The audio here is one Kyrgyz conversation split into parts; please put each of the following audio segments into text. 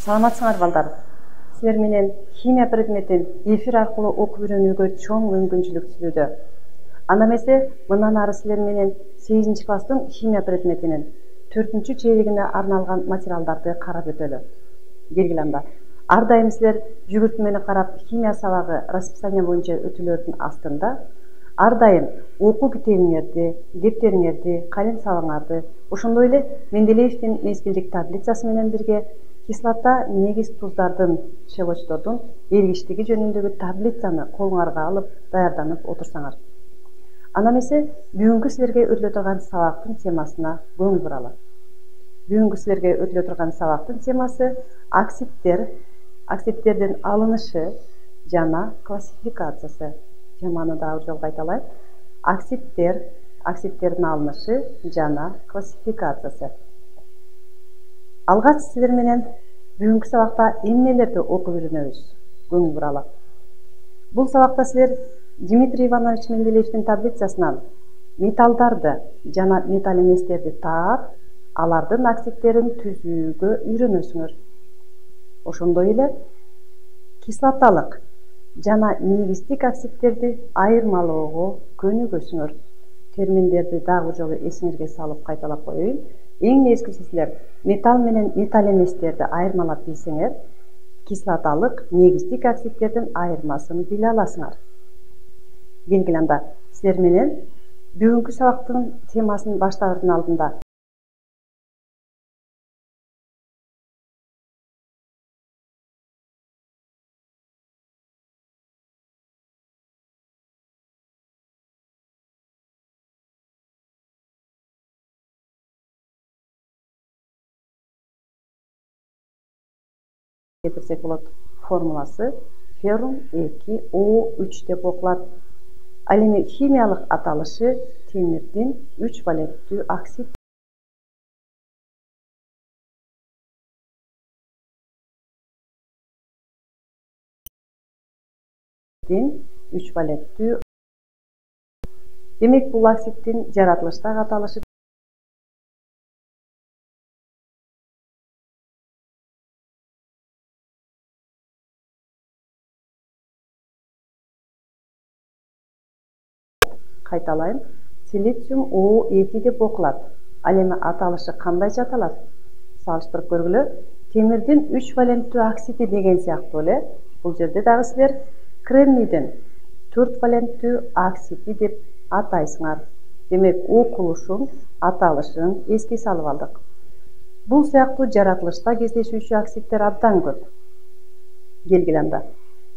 Саламатсыңар балдар. Силер менен химия предметин эфир аркылуу окуп үйрөнүүгө чоң мүмкүнчүлүк сүрүүдө. Анда эмесе мындан ары силер менен 8 класстын химия предметинин 4-чейлигине арналган материалдарды карап өтөлү. Келгиле анда. Ар дайым силер жүгүртмени карап химия сабагы расписание боюнча өтүүлөрдүн астында ар дайым окуу китебиңерди, дептериңерди, калем сабаңарды, ошондой эле Менделеевдин мезгилдик таблицасы менен бирге кислота негиз туздардын шелочтордун эргиштиги жөнүндөгү таблицаны колуңарга алып даярданып отурсаңар. Анда эмесе бүгүнкү силерге өтүлө турган сабактын темасына көңүл буралы. Бүгүнкү силерге өтүлө турган сабактын темасы оксидтер, оксидтердин алынышы жана классификациясы. Теманы дагы жолго айталайын. Оксидтер, оксидтердин алынышы жана классификациясы. Алгач силер менен бүгүнкү сабакта эмнелерди окуп үйрөнөбүз? Көңүл буралы. Бул сабакта силер Дмитрий Иванович Менделеевдин таблицасынан металлдарды жана металл эместерди таап, алардын оксидтерин түзүүгө үйрөнөсүңөр. Ошондой эле кислоталык жана негиздик оксидтерди айырмалоого көнүгөсүңөр. Терминдерди дагы жолу эсиңерге салып кайталап коеюн. Эң нечкиси силер металл менен металл эместерди айырмалап билсеңер, кислоталык негиздик оксидтердин айырмасын биле аласыңар. Келгиле анда силер менен бүгүнкү сабактын темасын баштаардын алдында кетирсек болот. Формуласы феррум 2O3 деп окулат. Ал эми химиялык аталышы темирдин 3 валенттүү оксид. 3 валенттүү. Демек бул оксиддин жаратылыштагы аталышы кайталайын. Силициум O2 деп окулат. Ал эми аталышы кандайча аталат? Салыштырып көргүлө. Темирдин 3 валенттүү оксиди деген сыяктуу эле. Бул жерде дагы силер кремнийдин 4 валенттүү оксиди деп атайсыңар. Демек окулушун, аталышын эске салып алдык. Бул сыяктуу жаратылышта кездешүүчү оксидтер абдан көп. Келгиле анда.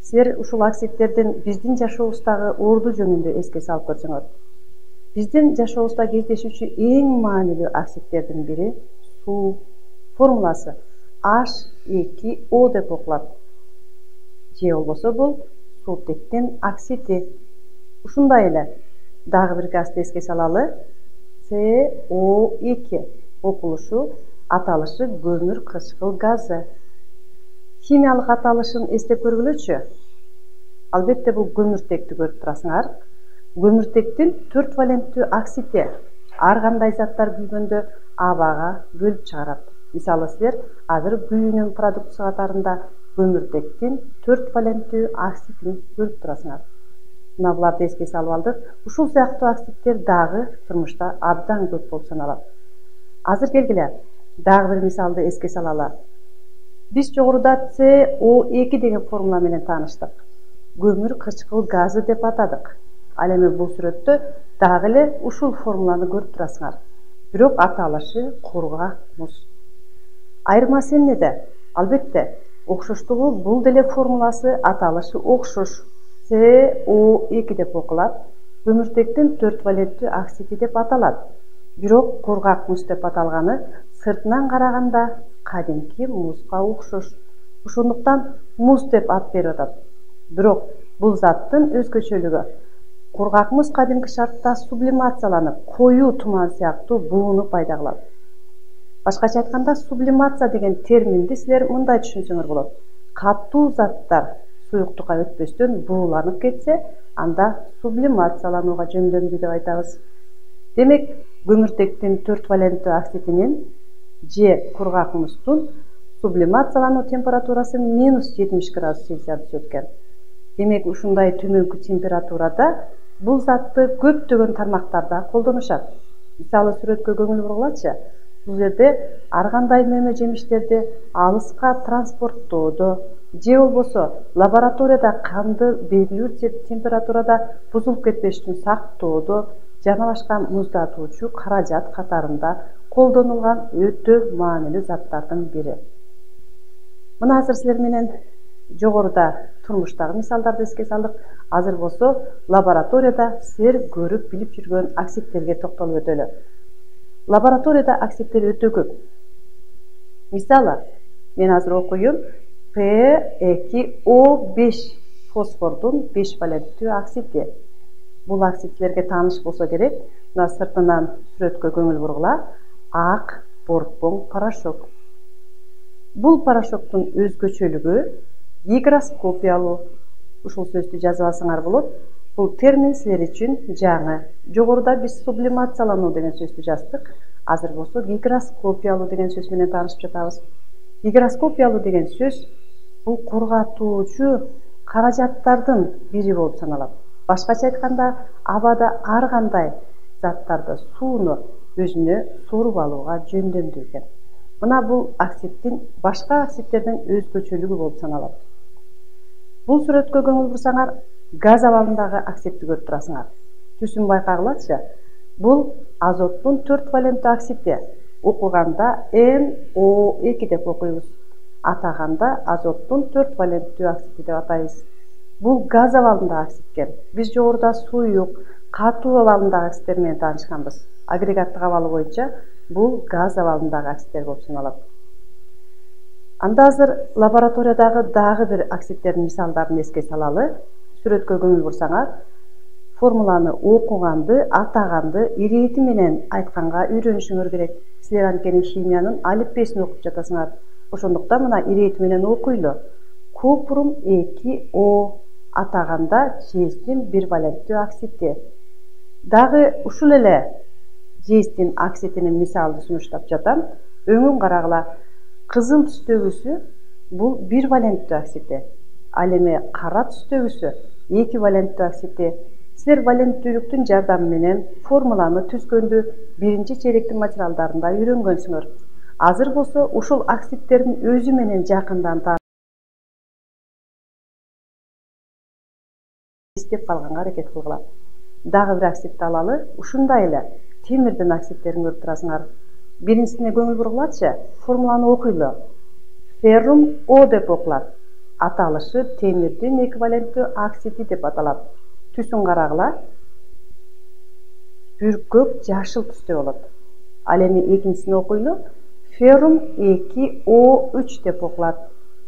Силер ушул оксидтердин биздин жашообуздагы орду жөнүндө эске салып көрсөңөр. Биздин жашообузда кездешүүчү эң маанилүү оксидтердин бири суу. Формуласы H2O деп окулат. Же болбосо бул суутектин оксиди. Ушундай эле дагы бир газды эске салалы. CO2 окулушу, аталышы көмүр кычкыл газы. Химиялык аталышын эстеп көргүлөчү. Албетте бул көмүртекти көрүп турасыңар. Көмүртектин 4 валенттүү оксиди ар кандай заттар күйгөндө абага бөлүп чыгарат. Мисалы силер азыр күйүүнүн продуктусу катарында көмүртектин 4 валенттүү оксидин көрүп турасыңар. Мына буларды эске салып алдык. Ушул сыяктуу оксидтер дагы турмушта абдан көп болуп саналат. Азыр келгиле дагы бир мисалды эске салалы. Биз жогоруда CO2 деген формула менен тааныштык. Көмүр кычкыл газы деп атадык. Ал эми бул сүрөттө дагы эле ушул формуланы көрүп турасыңар. Бирок аталышы кургак муз. Айырмасы эмнеде? Албетте, окшоштугу бул деле формуласы, аталышы окшош. CO2 деп окулат. Көмүртектин 4 валенттүү оксиди деп аталат. Бирок кургак муз деп аталганы сыртынан караганда кадимки музга окшош. Ошондуктан муз деп ат берип атат. Бирок бул заттын өзгөчөлүгү кургак муз кадимки шартта сублимацияланып, коюу туман сыяктуу бууну пайда кылат. Башкача айтканда, сублимация деген терминди силер мындай түшүнсөңөр болот. Катуу заттар суюктукка өтпөстөн бууланып кетсе, анда сублимацияланууга жөндөмдүү деп айтабыз. Демек, көмүртектин 4 валенттүү оксидинин же кургак муздун сублимациялануу температурасы -70°C түшөт экен. Демек ушундай төмөнкү температурада бул затты көптөгөн тармактарда колдонушат. Мисалы сүрөткө көңүл бургулачы. Бул жерде ар кандай мөмө жемиштерди алыска транспорттоодо же болбосо лабораторияда канды белгилүү температурада бузулуп кетпеш үчүн сактоодо жана башка муздатуучу каражат катарында колдонулган өтө маанилүү заттардын бири. Мына азыр силер менен жогоруда турмуштагы мисалдарды эске салдык. Азыр болсо лабораторияда силер көрүп билип жүргөн оксидтерге токтолуп өтөлү. Лабораторияда оксидтер өтө көп. Мисалы, мен азыр окуйм P2O5 фосфордун 5 валенттүү оксиди. Бул оксид силерге тааныш болсо керек. Мына сыртынан сүрөткө көңүл бургула. Ак борпоң порошок. Бул порошоктун өзгөчөлүгү гигроскопиялуу. Ушул сөздү жазып алсаңар болот. Бул термин силер үчүн жаңы. Жогоруда биз сублимациялануу деген сөздү жаздык. Азыр болсо гигроскопиялуу деген сөз менен таанышып жатабыз. Гигроскопиялуу деген сөз бул корготуучу каражаттардын бири болуп саналат. Башкача айтканда, абада ар кандай заттарды, сууну өзүнө соруп алууга жөндөмдүү экен. Мына бул оксиддин башка оксидтерден өзгөчөлүгү болуп саналат. Бул сүрөткө көңүл бурсаңар, газ абалындагы оксидти көрүп турасыңар. Түсүн байкагылачы. Бул азоттун 4 валенттүү оксиди. Окуганда NO2 деп окуйбуз. Атаганда азоттун 4 валенттүү оксиди деп атайбыз. Бул газ абалындагы оксидкен. Биз жогоруда суюк, катуу абалындагы оксидтер менен таанышканбыз. Агрегаттык абалы боюнча бул газ абалындагы оксидтер болуп саналат. Анда азыр лабораториядагы дагы бир оксидтердин мисалдарын эске салалы. Сүрөткө көңүл бурсаңар, формуланы окуганды, атаганды ирети менен айтканга үйрөнүшүңөр керек. Силер анткени химиянын алифбесин окуп жатасыңар. Ошондуктан мына ирети менен окуйлу. Купрум 2O атаганда жездин 1 валенттүү оксиди. Дагы ушул эле жездин оксидинин мисалды сунуштап жатам. Өңүн карагыла. Кызыл түстөгүсү бул 1 валенттүү оксиди. Ал эми кара түстөгүсү 2 валенттүү оксиди. Силер валенттүүлүктүн жардамы менен формуланы түзгөндү биринчи чейректин материалдарында үйрөнгөнсүңөр. Азыр болсо ушул оксидтердин өзү менен жакындан эстеп калганга аракет кылгыла. Дагы бир оксидти алалы. Ушундай эле темирдин оксидтерин көрүп турасыңар. Биринчисине көңүл бургулачы. Формуланы окуйлу. Феррум O деп окулат. Аталышы темирдин эквиваленттүү оксиди деп аталат. Түсүн карагыла. Бүркөк жашыл түстө болот. Ал эми экинчисин окуйлу. Феррум 2O3 деп окулат.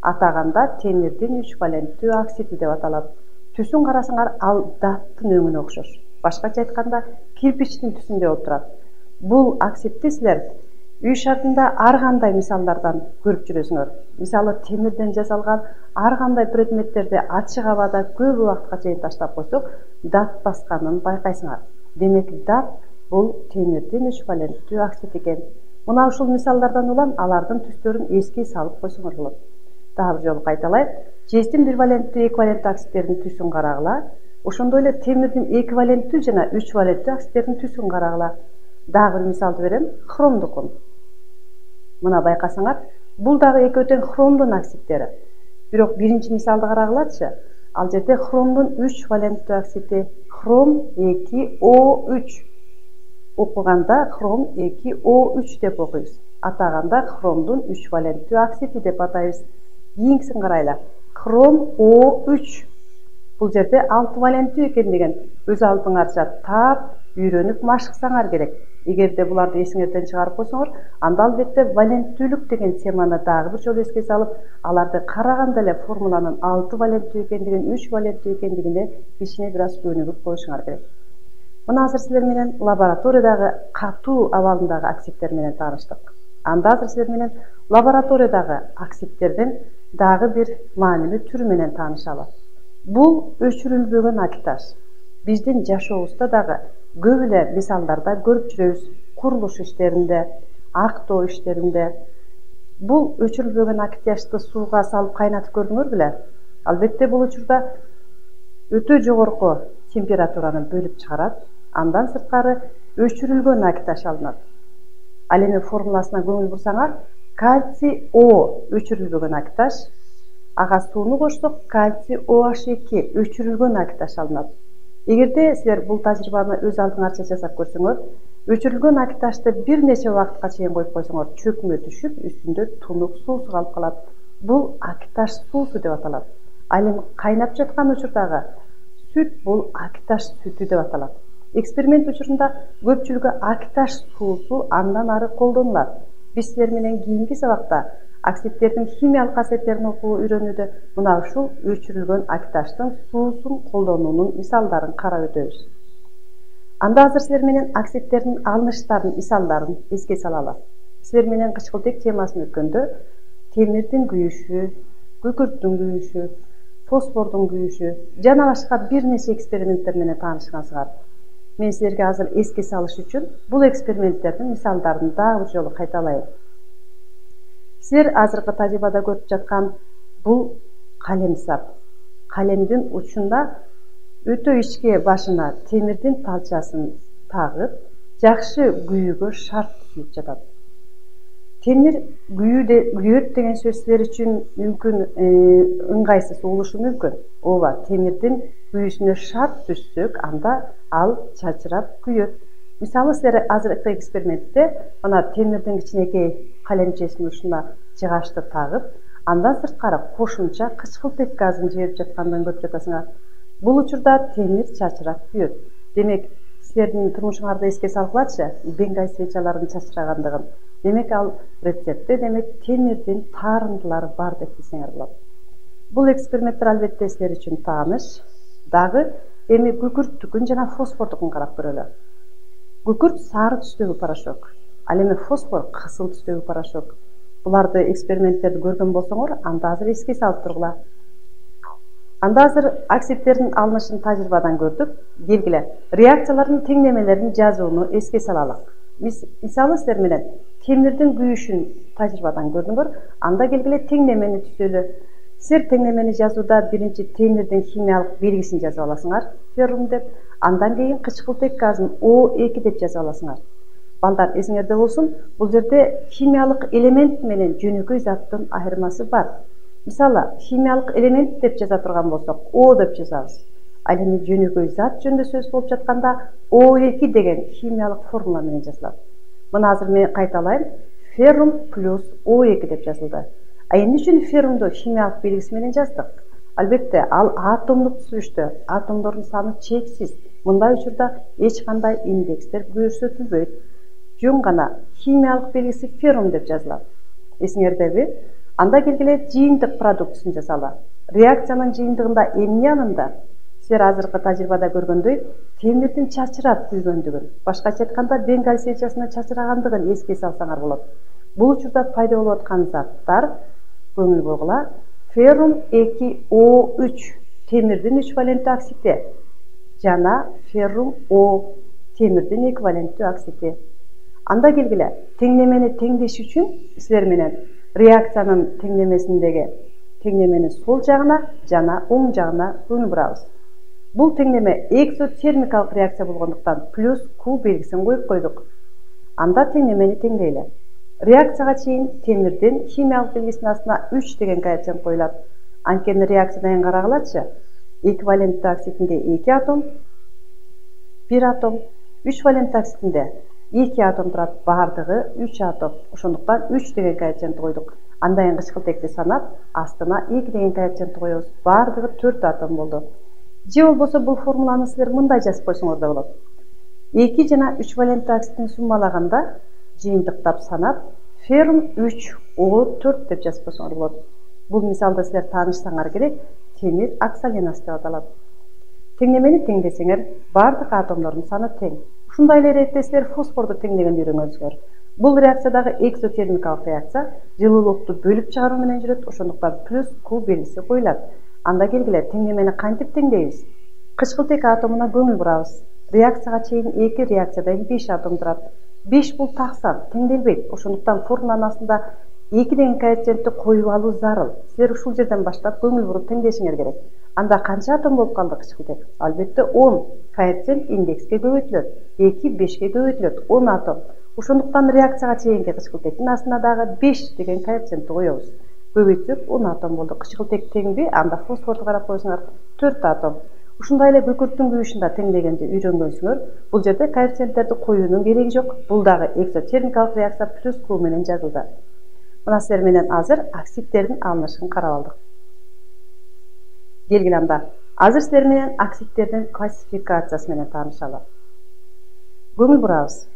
Атаганда темирдин 3 валенттүү оксиди деп аталат. Түсүн карасаңар, ал даттын өңүнө окшош. Башкача айтканда, кирпичтин түсүндө болуп турат. Бул оксидти силер үй шартында ар кандай мисалдардан көрүп жүрөсүңөр. Мисалы, темирден жасалган ар кандай предметтерди ачык абада көп убакытка чейин таштап койсок, дат басканын байкайсыңар. Демек, дат бул темирдин 3 валенттүү оксид экен. Мына ушул мисалдардан улам алардын түстөрүн эске салып койсоңор болот. Дагы бир жолу кайталайт. Жездин 1 валенттүү, эквиваленттүү оксидтердин түсүн карагыла. Ошондой эле темирдин эквиваленттүү жана 3 валенттүү оксидтердин түсүн карагыла. Дагы бир мисалды берем. Хромдукун. Мына байкасаңар, бул дагы экөө тең хромдун оксидтери. Бирок биринчи мисалды карагылачы. Ал жерде хромдун 3 валенттүү оксиди, хром 2O3. Окуганда хром 2O3 деп окуйбуз. Атаганда хромдун 3 валенттүү оксиди деп атайбыз. Кийинкисин карайлы. Хром O3. Бул жерде 6 валенттүү экендигин өз алдыңарча таап, үйрөнүп машыксаңар керек. Эгерде буларды эсиңерден чыгарып койсоңор, анда албетте валенттүүлүк деген теманы дагы бир жолу эске салып, аларды караганда эле формуланын 6 валенттүү экендигин, 3 валенттүү экендигине кичине бир аз өнүгүп коюшуңар керек. Мына азыр силер менен лабораториядагы катуу абалындагы оксидтер менен тааныштык. Анда азыр силер менен лабораториядагы оксидтердин дагы бир маанилүү түрү менен таанышалы. Бул өчүрүлбөгөн альтаж. Биздин жашообузда дагы көп эле мисалдарда көрүп жүрөбүз. Курулуш иштеринде, актоо иштеринде, Бул өчүрүлбөгөн акитяшты сууга салып кайнатып көрдүңөр беле? Албетте бул учурда өтө жогорку температураны бөлүп чыгарат. Андан сырткары өчүрүлгөн акиташ алынат. Ал эми формуласына көңүл бурсаңар, кальций О өчүрүлбөгөн акиташ, ага сууну кошсок кальций OH2 өчүрүлгөн акиташ алынат. Эгерде силер бул тажрыйбаны өз алдыңарча жасап көрсөңөр, өчүрүлгөн акиташты бир нече убакытка чейин коюп койсоңор, чөкмө түшүп, үстүндө тунук суусу калып калат. Бул акиташ суусу деп аталат. Ал эми кайнап жаткан учурдагы сүт бул акиташ сүтү деп аталат. Эксперимент учурунда көпчүлүгү акиташ суусу андан ары колдонулат. Биз силер менен кийинки сабакта оксидтердин химиялык касиеттерин окуу үйрөнүүдө мына ушул өчүрүлгөн акиташтын суусун колдонуунун мисалдарын карап өтөбүз. Анда азыр силер менен оксидтердин алыныштарын мисалдарын эске салалы. Силер менен кычкылтек темасын өткөндө темирдин күйүшү, күкүрттүн күйүшү, фосфордун күйүшү жана башка бир нече эксперименттер менен таанышкансыңар. Мен силерге азыр эске салыш үчүн бул эксперименттердин мисалдарын дагы бир жолу кайталайын. Силер азыркы тажрыйбада көрүп жаткан бул калем сап. Калемдин учунда өтө ичке башына темирдин талчасын тагып, жакшы күйүүгө шарт түзүлүп жатат. Темир күйөт деген сөз силер үчүн мүмкүн ыңгайсыз болушу мүмкүн. Ооба, темирдин күйүүсүнө шарт түшсөк, анда ал чачырап күйөт. Мисалы силер азыркы экспериментте мына темирдин кичинекей калемчесинин ушуна жыгачты тагып, андан сырткары кошумча кычкылтек газын жиберип жаткандыгын көрүп жатасыңар. Бул учурда темир чачырап күйөт. Демек, силердин турмушуңарды эске салгылачы, бенгай свечалардын чачырагандыгын. Демек, ал рецептте темирдин таарындылары бар деп билсеңер болот. Бул эксперименттер албетте силер үчүн тааныш. Дагы эми күкүрттүкүн жана фосфордукун карап көрөлү. Күкүрт сары түстөгү порошок, ал эми фосфор кызыл түстөгү порошок. Буларды эксперименттерди көргөн болсоңор, анда азыр эске салып тургула. Анда азыр оксидтердин алынышын тажрыйбадан көрдүк. Келгиле, реакциялардын теңдемелерин жазууну эске салалы. Мисалы силер менен темирдин күйүшүн тажрыйбадан көрдүңөр, анда келгиле теңдемени түзөлү. Силер теңдемени жазууда биринчи темирдин химиялык белгисин жазып аласыңар, феррум деп, андан кийин кычкылтек газын O2 деп жазып аласыңар. Балдар, эсиңерде болсун, бул жерде химиялык элемент менен жөнөкөй заттын айырмасы бар. Мисалы, химиялык элемент деп жаза турган болсок, O деп жазабыз. Ал эми жөнөкөй зат жөнүндө сөз болуп жатканда O2 деген химиялык формула менен жазылат. Мына азыр мен кайталайм. Феррум плюс O2 деп жазылды. А эмне үчүн феррумду химиялык белгиси менен жаздык? Албетте, ал атомдук түзүлүштө, атомдордун саны чексиз. Мындай учурда эч кандай индекстер көрсөтүлбөйт. Жөн гана химиялык белгиси феррум деп жазылат. Эсиңердеби? Анда келгиле жыйынтык продуктусун жасалы. Реакциянын жыйынтыгында эмне анында? Силер азыркы тажрыйбада көргөндөй, темирдин чачырап күйгөндүгүн, башкача айтканда бенгаль свечасына чачырагандыгын эске салсаңар болот. Бул учурда пайда болуп аткан заттар, көңүл бургула, феррум 2O3 темирдин 3 валенттүү оксиди жана феррум O темирдин эквиваленттүү оксиди. Анда келгиле, теңдемени теңдеш үчүн силер менен реакциянын теңдемесиндеги теңдеменин сол жагына жана оң жагына көңүл бурабыз. Бул теңдеме экзотермикалык реакция болгондуктан плюс Q белгисин коюп койдук. Анда теңдемени теңдейле. Реакцияга чейин темирдин химиялык белгисинин астына 3 деген коэффициент коюлат. Анткени реакциядан карагылачы, эквиваленттүү оксидинде 2 атом, 1 атом, 3 валенттүү оксидинде 2 атом турат, бардыгы 3 атом. Ошондуктан 3 деген коэффициент койдук. Андан кычкылтекти санап, астына 2 деген коэффициент коебуз. Бардыгы 4 атом болду. Же болбосо бул формуланы силер мындай жазып койсоңор да болот. 2 жана 3 валенттүү оксидин суммалаганда, жыйынтыктап санап, феррум 3O4 деп жазып койсоңор болот. Бул мисалда силер таанышсаңар керек, темир оксаленасы деп аталат. Теңдемени теңдесеңер, бардык атомдордун саны тең. Ушундай эле иретте силер фосфорду теңдегенди үйрөнгөнсүңөр. Бул реакциядагы экзотермикалык реакция жылуулукту бөлүп чыгаруу менен жүрөт, ошондуктан плюс Q белгиси коюлат. Анда келгиле, теңдемени кантип теңдейбиз? Кычкылтек атомуна көңүл бурабыз. Реакцияга чейин 2 реакциядан 5 атом турат. 5 бул так сан, теңделбейт. Ошондуктан формуланын астында 2 деген коэффициентти коюп алуу зарыл. Силер ушул жерден баштап көңүл буруп теңдешиңер керек. Анда канча атом болуп калды кычкылтек? Албетте 10. Коэффициент индекске көбөйтүлөт. 2 5ке көбөйтүлөт. 10 атом. Ошондуктан реакцияга чейинки кычкылтектин астына дагы 5 деген коэффициентти коебуз. Көбөйтсөк 10 атом болду. Кычкылтек теңби? Анда фосфорду карап койсоңор 4 атом. Ушундай эле күкүрттүн күйүшүндө теңдегенди үйрөнгөнсүңөр. Бул жерде коэффициенттерди коюунун кереги жок. Бул дагы экзотермикалык реакция плюс Q менен жазылды. Мына силер менен азыр оксидтердин алынышын карап алдык. Келгиле анда. Азыр силер менен оксидтердин классификациясы менен таанышалы. Көңүл бурабыз.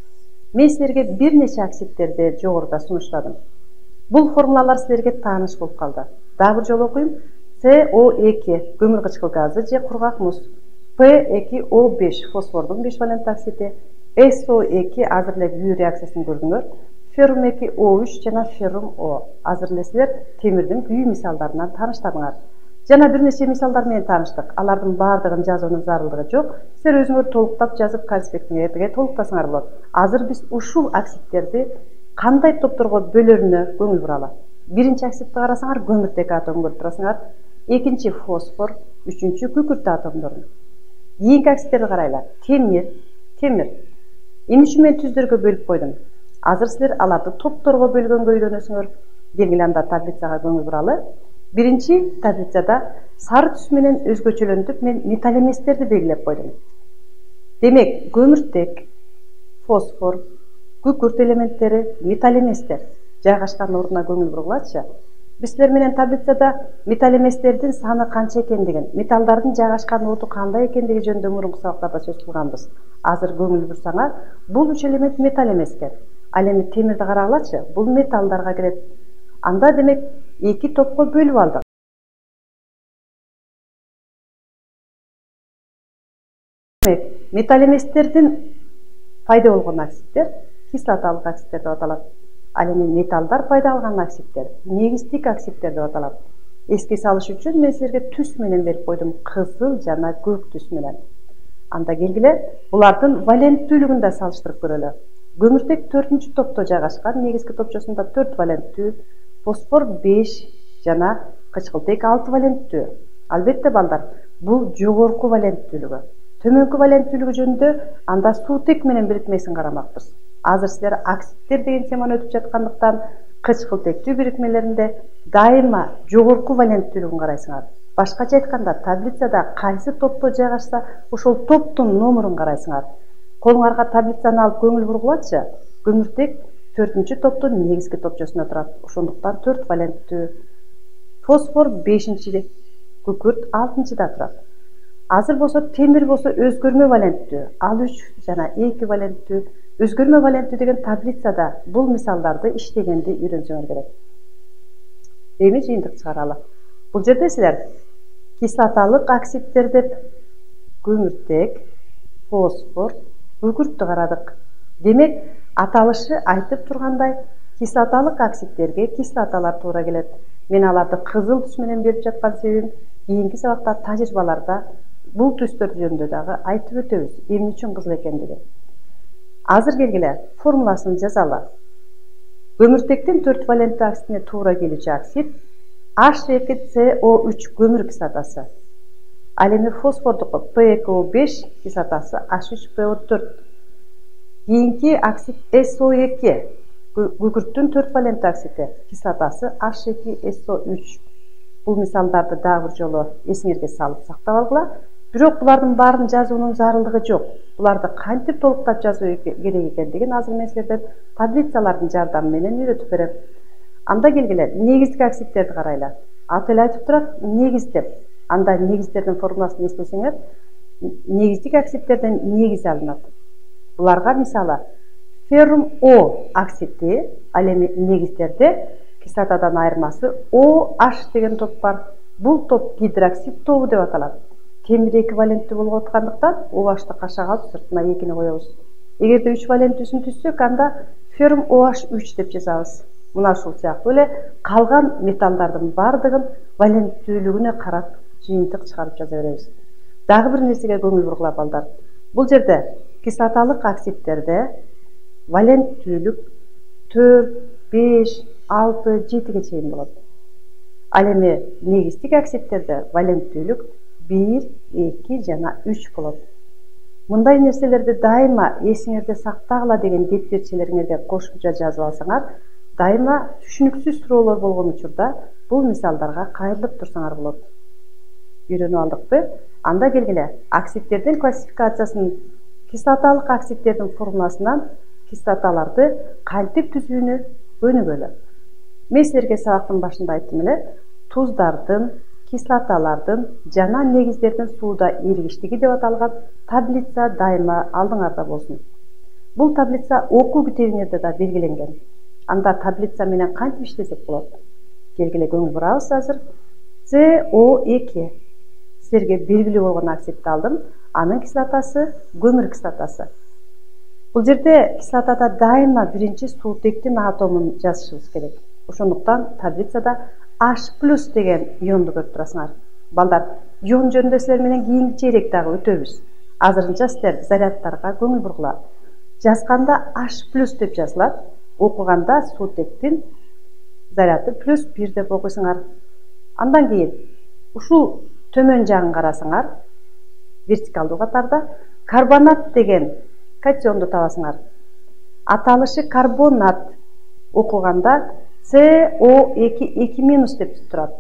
Мен силерге бир нече оксидтерди жогоруда сунуштадым. Бул формулалар силерге тааныш болуп калды. Дагы бир жолу окуйм. CO2 көмүр кычкыл газы же кургак муз. P2O5 фосфордун 5 валентті оксиди. SO2 азыр эле күйүү реакциясын көрдүңөр. Феррум 2O3 жана феррум O. Азыр эле силер темирдин күйүү мисалдарынан тааныштадыңар. Жана бир нече мисалдар менен тааныштык. Алардын баардыгын жазуунун зарылдыгы жок. Силер өзүңөр толуктап жазып конспектиңерге толуктасаңар болот. Азыр биз ушул оксидтерди кандай топторго бөлөрүнө көңүл буралы. Биринчи оксидти карасаңар көмүртек атомун көрүп турасыңар. Экинчи фосфор, үчүнчү күкүрт атомдорун. Кийинки оксидтерди карайлар. Темир. Эмне үчүн мен түздөргө бөлүп койдум? Азыр силер аларды топторго бөлгөнгө үйрөнөсүңөр. Келгиле анда таблицага көңүл буралы. Биринчи таблицада сары түс менен өзгөчөлөнтүп мен металл эместерди белгилеп койдум. Демек, көмүртек, фосфор, күкүрт элементтери металл эместер. Жайгашкан ордуна көңүл бургулачы. Биз силер менен таблицада металл эместердин саны канча экендигин, металлдардын жайгашкан орду кандай экендиги жөнүндө мурунку сабактарда сөз кылганбыз. Азыр көңүл бурсаңар, бул 3 элемент металл эмеске. Ал эми темирди карагылачы, бул металлдарга кирет. Анда демек 2 топко бөлүп алдык. Демек, металл эместердин пайда болгон оксидтер кислоталык оксидтер деп аталат. Ал эми металлдар пайда алган оксидтер негиздик оксидтер деп аталат. Эске салыш үчүн мен силерге түс менен берип койдум, кызыл жана көк түс менен. Анда келгиле, булардын валенттүүлүгүн да салыштырып көрөлү. Көмүртек 4-чү топто жайгашкан, негизги топчосунда 4 валенттүү, фосфор 5 жана кычкылтек 6 валенттүү. Албетте балдар, бул жогорку валенттүүлүгү. Төмөнкү валенттүүлүгү жөнүндө анда суутек менен бирикмесин карамакпыз. Азыр силер оксидтер деген теманы өтүп жаткандыктан кычкылтектүү бирикмелеринде дайыма жогорку валенттүүлүгүн карайсыңар. Башкача айтканда, таблицада кайсы топто жайгашса, ошол топтун номерун карайсыңар. Колуңарга таблицаны алып көңүл бургулачы. Көмүртек 4-чү топтун негизги топчосунда турат. Ошондуктан 4 валенттүү. Фосфор 5-чи, күкүрт 6-чыда турат. Азыр болсо темир болсо өзгөрмө валенттүү. Ал 3 жана 2 валенттүү. Өзгөрмө валенттүү деген таблицада бул мисалдарды иштегенди үйрөнсөңөр керек. Эми жыйынтык чыгаралы. Бул жерде силер кислоталык оксидтер деп көмүртек, фосфор, күкүрттү карадык. Демек, аталышы айтып тургандай, кислоталык оксидтерге кислоталар туура келет. Мен аларды кызыл түс менен берип жаткан себебим кийинки сабакта тажрыйбаларда бул түстөр жөнүндө дагы айтып өтөбүз, эмне үчүн кызыл экендиги. Азыр келгиле, формуласын жазалы. Көмүртектин 4 валенттүү оксидине туура келүүчү оксид H2CO3 көмүр кислотасы. Ал эми фосфордуку P2O5 кислотасы H3PO4. Кийинки оксид SO2 күкүрттүн 4 валенттүү оксиди кислотасы H2SO3. Бул мисалдарды дагы бир жолу эсиңерге салып сактап алгыла. Бирок булардын баарын жазуунун зарылдыгы жок. Буларды кантип толуктап жазуу керек экендигин азыр мен силерден таблицалардын жардамы менен үйрөтүп берем. Анда келгиле, негизги оксидтерди карайлы. Аты эле айтып турат, негиз деп. Анда негиздердин формуласын эстесеңер, негиздик оксидтерден негиз алынат. Буларга мисалы феррум O оксиди, ал эми негиздерде кислотадан айырмасы OH деген топ бар. Бул топ гидроксид тобу деп аталат. Темир эквиваленттүү болуп аткандыктан OH-ты кашага алып сыртына 2-ни коебуз. Эгерде 3 валенттүүсүн түзсөк, анда феррум OH3 деп жазабыз. Мына ушул сыяктуу эле калган металлдардын бардыгын валенттүүлүгүнө карап жыйынтык чыгарып жаза беребиз. Дагы бир нерсеге көңүл бургула балдар. Бул жерде кислоталык оксидтерде валенттүүлүк 4, 5, 6-7 чейин болот. Ал эми негиздик оксидтерде валенттүүлүк 1, 2 жана 3 болот. Мындай нерселерди дайыма эсиңерде сактагыла деген дептирчелериңерге кошумча жазып алсаңар, дайыма түшүнүксүз суроолор болгон учурда бул мисалдарга кайрылып турсаңар болот. Үйрөнүп алдыкпы? Анда келгиле, оксидтердин классификациясын кислоталык оксидтердин формуласынан кислоталарды кантип түзүүнү өнүгөлү. Мен силерге сабактын башында айттым эле, туздардын, кислоталардын жана негиздердин сууда эригиштиги деп аталган таблица дайыма алдыңарда болсун. Бул таблица окуу китебиңерде да белгиленген. Анда таблица менен кантип иштесек болот? Келгиле көңүл бурабыз азыр. CO2 силерге белгилүү болгон оксидти алдым. Анын кислотасы көмүр кислотасы. Бул жерде кислотада дайыма биринчи суутектин атомун жазышыбыз керек. Ошондуктан таблицада H+ деген ионду көрүп турасыңар. Балдар, ион жөнүндө силер менен кийинки чейрек дагы өтөбүз. Азырынча силер зарядтарга көңүл бургула. Жазганда H+ деп жазылат, окуганда суутектин заряды +1 деп окуйсуңар. Андан кийин ушул төмөн жагын карасаңар, вертикалдуу катарда карбонат деген катионду табасыңар. Аталышы карбонат, окуганда CO2 2- деп турат.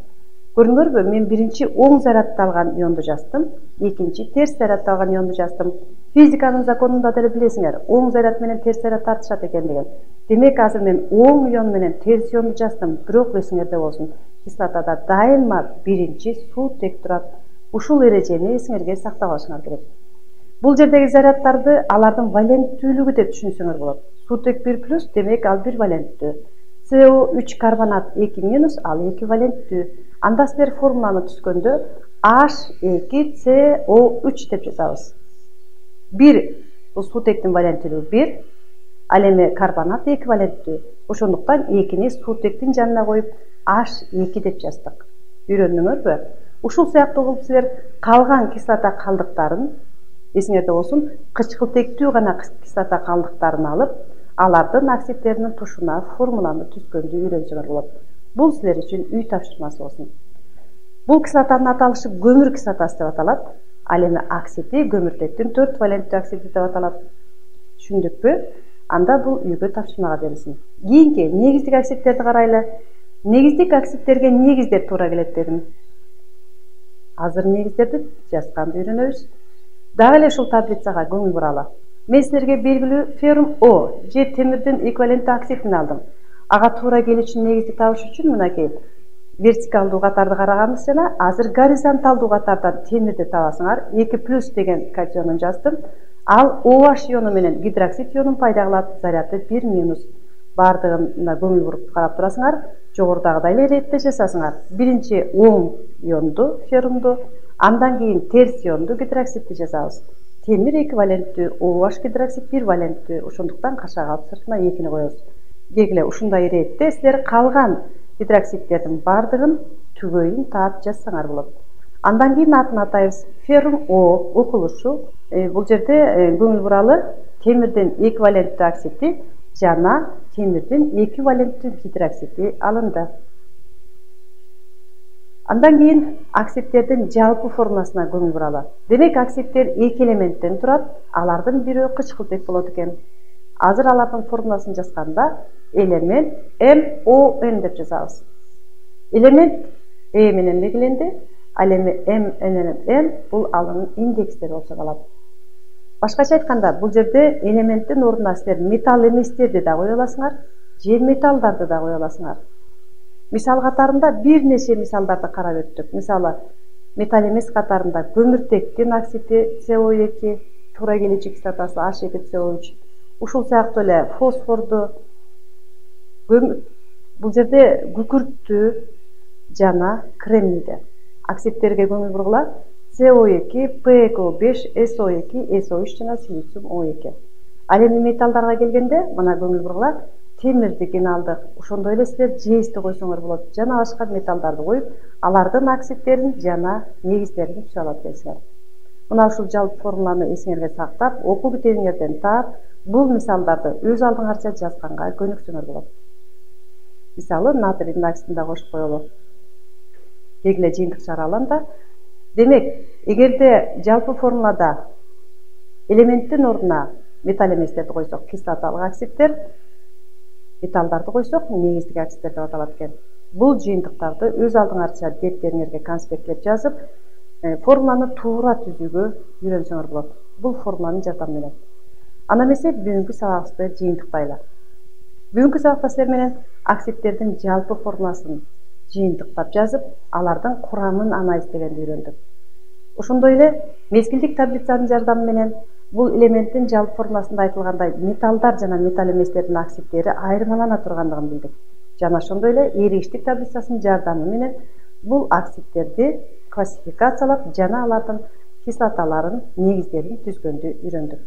Көрүңөрбү, мен биринчи оң зарядталган ионду жаздым, экинчи терс зарядталган ионду жаздым. Физиканын законунда деле билесиңер, оң заряд менен терс заряд тартышат экендигин. Демек, азыр мен оң ион менен терс ионду жаздым, бирок эсиңерде болсун, кислотада дайыма биринчи суутек турат. Ушул эрежени эсиңерге сактап алышыңар керек. Бул жердеги заряддарды алардын валенттүүлүгү деп түшүнсөңөр болот. Суутек 1+, демек ал 1 валенттүү. CO3 карбонат 2-, ал 2 валенттүү. Анда силер формуланы түзгөндө H2CO3 деп жазабыз. 1 бул суутектин валенттүүлүгү 1, ал эми карбонат 2 валенттүү. Ошондуктан 2-ни суутектин жанына коюп H2 деп жаздык. Үйрөндүңөрбү? Ушул сыяктуу кылып силер калган кислота калдыктарын, эсиңерде болсун, кычкылтектүү гана кислота калдыктарын алып, алардын оксидтеринин тушуна формуланы түзгөндү үйрөнсөңөр болот. Бул силер үчүн үй тапшырмасы болсун. Бул кислотанын аталышы көмүр кислотасы деп аталат. Ал эми оксиди көмүртектин 4 валенттүү оксиди деп аталат. Түшүндүкпү? Анда бул үйгө тапшырмага берилсин. Кийинки негиздик оксидтерди карайлы. Негиздик оксидтерге негиздер туура келет дедим. Азыр негиздерди жазганды үйрөнөбүз. Дагы эле ушул таблицага көңүл буралы. Мен силерге белгилүү феррум О же темирдин эквиваленттүү оксидин алдым. Ага туура келүүчү негизди табыш үчүн мынакей вертикалдуу катарды караганбыз жана азыр горизонталдуу катардан темирди табасыңар. 2+ деген катионун жаздым. Ал OH иону менен гидроксид ионун пайда кылат, заряды 1-. Бардыгына көңүл буруп карап турасыңар, жогорудагыдай эле иретте жасасыңар. Биринчи оң ионду, феррумду, андан кийин терс ионду, гидроксидди жазабыз. Темир 2 валенттүү, OH гидроксид 1 валенттүү. Ошондуктан кашаак алып сыртына 2-ни коебуз. Келгиле, ушундай иретте силер калган гидроксидтердин бардыгын түгөйүн таап жазсаңар болот. Андан кийин атын атайбыз. Феррум О окулушу. Бул жерде көңүл буралы темирдин эквиваленттүү оксиди жана темирдин 2 валенттүү гидроксиди алынды. Андан кийин оксидтердин жалпы формуласына көңүл буралы. Демек, оксидтер 2 элементтен турат, алардын бирөө кычкылтек болот экен. Азыр алардын формуласын жазганда элемент MON деп жазабыз. Элемент E менен белгиленди, ал эми M менен N бул алынын индекстери болсо калат. Башкача айтканда, бул жерде элементтин ордуна силер металл эместерди да кое аласыңар, же металлдарды да кое аласыңар. Мисал катарында бир нече мисалдарды карап өттүк. Мисалы, металл эмес катарында көмүртектин оксиди CO2, туура келүүчү кислотасы H2CO3. Ушул сыяктуу эле фосфорду, бул жерде күкүрттү жана кремнийди. Оксидтерге көңүл бургула. CO2, PeCO5, SO2, SO3 жана силициум O2. Ал эми металлдарга келгенде, мына көңүл бургула. Темирдикин алдык. Ошондой эле силер жейсти койсоңор болот. Жана башка металлдарды коюп, алардын оксидтерин жана негиздерин түзүп алат экенсиңер. Мына ушул жалпы формуланы эсиңерге сактап, окуу китебиңерден таап, бул мисалдарды өз алдыңарча жазганга көнүксөңөр болот. мисалы натрийдин оксидин да кошуп коелу, кийин эле жыйынтык чыгара алам да. Демек, эгерде жалпы формулада элементтин ордуна металл эместерди койсок, кислоталык оксидтер, металлдарды койсок, негиздик оксидтер деп аталат экен. Бул жыйынтыктарды өз алдыңарча деттериңерге конспектлеп жазып, формуланы туура түзүүгө үйрөнсөңөр болот. Бул формуланын жардамы менен. Ана эмесе бүгүнкү сабагыбызды жыйынтыктайлы. Бүгүнкү сабакта силер менен оксидтердин жалпы формуласын жыйынтыктап жазып, алардын курамын анализдегенди үйрөндүк. Ошондой эле мезгилдик таблицанын жардамы менен бул элементтин жалпы формуласында айтылгандай металлдар жана металл эместердин оксидтери айырмалана тургандыгын билдик. Жана ошондой эле эригиштик таблицасынын жардамы менен бул оксидтерди классификациялап жана алардын кислоталарын, негиздерин түзгөндү үйрөндүк.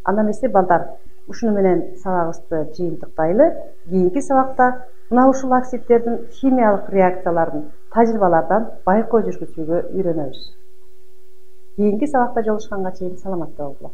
Анда эмесе балдар, ушуну менен сабагыбызды жыйынтыктайлы. Кийинки сабакта мына ушул оксидтердин химиялык реакцияларын тажрыйбалардан байкоо жүргүзүүгө үйрөнөбүз. Кийинки сабакта жолугушканга чейин саламатта болгула.